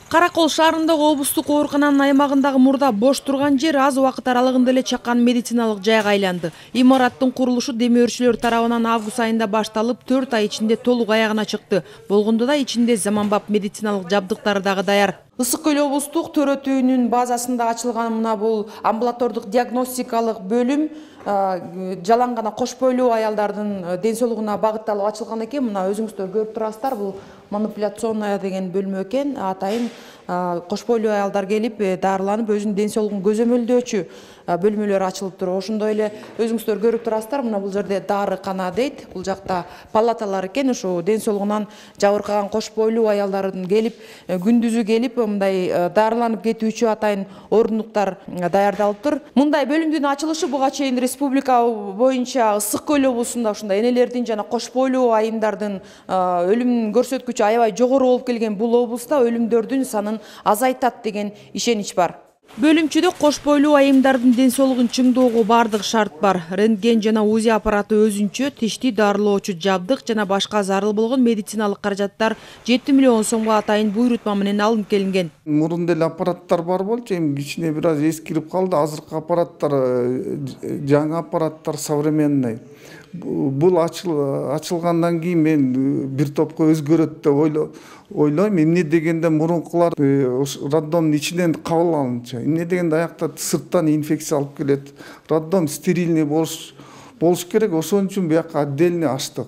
Кара Кол шаарындагы облустук оорукананын аймагындагы мурда бош турган жер аз убакыт аралыгында эле чакан медициналык жайга айланды. Имараттын курулушу демөөрчүлөр тарабынан август айында башталып, 4 ай ичинде толук аягына чыкты. Болгондо да ичинде заманбап медициналык жабдыктары дагы даяр. Ысык Көл облустук төрөтүүнүн базасында ачылган мына бул амбулатордук диагностикалык бөлүм жалаң гана кош бойлуу аялдардын ден соолугуна багытталып ачылган экен. Мына өзүңүздөр көрүп турасыздар, бул манипуляционная деген бөлмө экен. Атайын кош бойлуу аялдар келип дарыланып өзүнүн ден соолугун көзөмөлдөөчү бөлмөлөр ачылып туруп, ошондой эле өзүңүздөр көрүп турасыздар. Мына бул жерде дарыкана дейт. Бул жакта палаталар экен. Ошо ден соолугунан жабыркаган кош бойлуу аялдардын келип күндүзү келип мындай дарыланып кетүүчү атайын ордуктар даярдалып тур. Мындай бөлүмдүн ачылышы буга чейин республика боюнча Ысык Көл облусунда ушундай энелердин жана кош бойлуу айымдардын өлүм көрсөткүчү аябай жогору болуп келген бул облуста өлүмдөрдүн санын азайтат деген ишенич бар. Бөлүмчүдө кош бойлуу айымдардын ден соолугун чыңдоого бардык шарт бар. Рентген жана УЗИ аппараты өзүнчө, тишти дарылоочу жабдык жана башка зарыл болгон медициналык каражаттар 7 миллион сомго атайын буйрутма менен алынып келинген. Мурун деле аппараттар бар болчу, эми кичине бир аз эскирип калды. Азыркы аппараттар жаңы аппараттар, современный. Бул ачылгандан кийин мен бир топко өзгөрөт деп ойлойм. Эмне дегенде мурункулар роддомдун ичинен кабыл алынчу. Эмне дегенде аякта сырттан инфекция алып келет. Роддом стерильный болуш керек. Ошон үчүн бияка отдельно ачтык.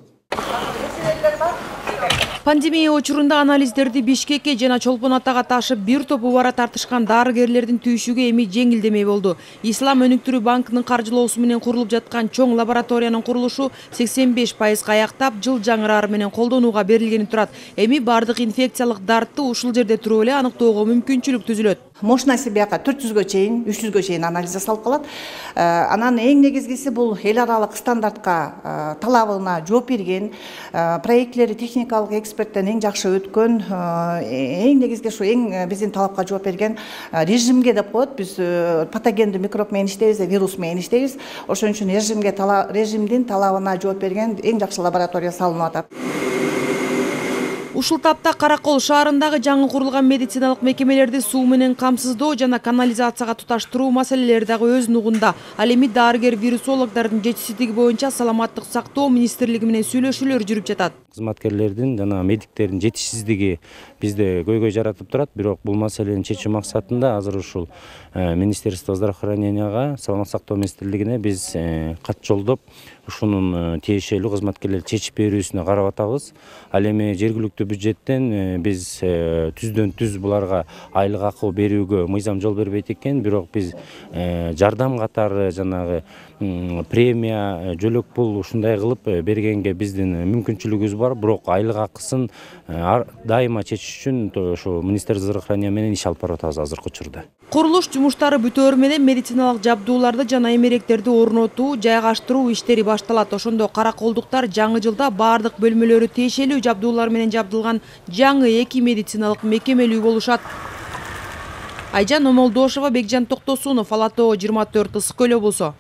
Пандемия учурунда анализдерди Бишкекке жана Чолпон Атага ташып бир топ убара тартышкан дарыгерлердин түйшүгү эми жеңилдемей болду. Ислам өнүктүрүү банкынын каржылоосу менен курулуп жаткан чоң лабораториянын курулушу 85% аяктап, жыл жаңырары менен колдонууга берилгени турат. Эми бардык инфекциялык дартты ушул жерде туруп эле аныктоого мүмкүнчүлүк түзүлөт. Мощности бияка 400гө чейин, 300гө чейин анализ жасалып калат. Анан эң негизгиси бул эл аралык стандартка талабына жооп берген, проектлери техникалык эксперттен эң жакшы өткөн, эң негизги ушу эң биздин талапка жооп берген режимге деп коет. Биз патогендүү микроб менен иштейбиз, вирус менен иштейбиз. Ошон үчүн режимдин талабына жооп берген эң жакшы лаборатория салынып атат. Ушул тапта Кара Кол шаарындагы жаңы курулган медициналык мекемелерди суу менен камсыздоо жана канализацияга туташтыруу маселелери дагы өз нугунда. Ал эми дарыгер вирусологдордун жетишсиздиги боюнча саламаттык сактоо министрлиги менен сүйлөшүүлөр жүрүп жатат. Кызматкерлердин жана медиктердин жетишсиздиги бизде көйгөй жаратып турат, бирок бул маселени чечүү максатында азыр ушул Министерство здравоохраненияга, саламаттык сактоо министрлигине биз кат жолдоп, ушунун тиешелүү кызматкерлерди чечип берүүсүнө карап атабыз. Ал эми жергиликтүү бюджеттен биз түздөн түз буларга айлык акы берүүгө мыйзам жол бербейт экен, бирок биз жардам катары жанагы премия, жөлөк пул ушундай кылып бергенге биздин мүмкүнчүлүгүбүз бар, бирок айлык акысын дайыма чечиш үчүн ошо Министерство здравоохранения менен иш алып барып атабыз азыркы учурда. Курулуш жумуштары бүтөөрү менен медициналык жабдууларды жана эмеректерди орнотуу, жайгаштыруу иштери башталат. Ошондо Кара Колдуктар жаңы жылда бардык бөлмөлөрү тиешелүү жабдуулар менен жабдылган жаңы 2 медициналык мекемелүү болушат. Айжан Омолдошова, Бекжан Токтосунов, Ала Тоо 24, Ысык Көл облусу.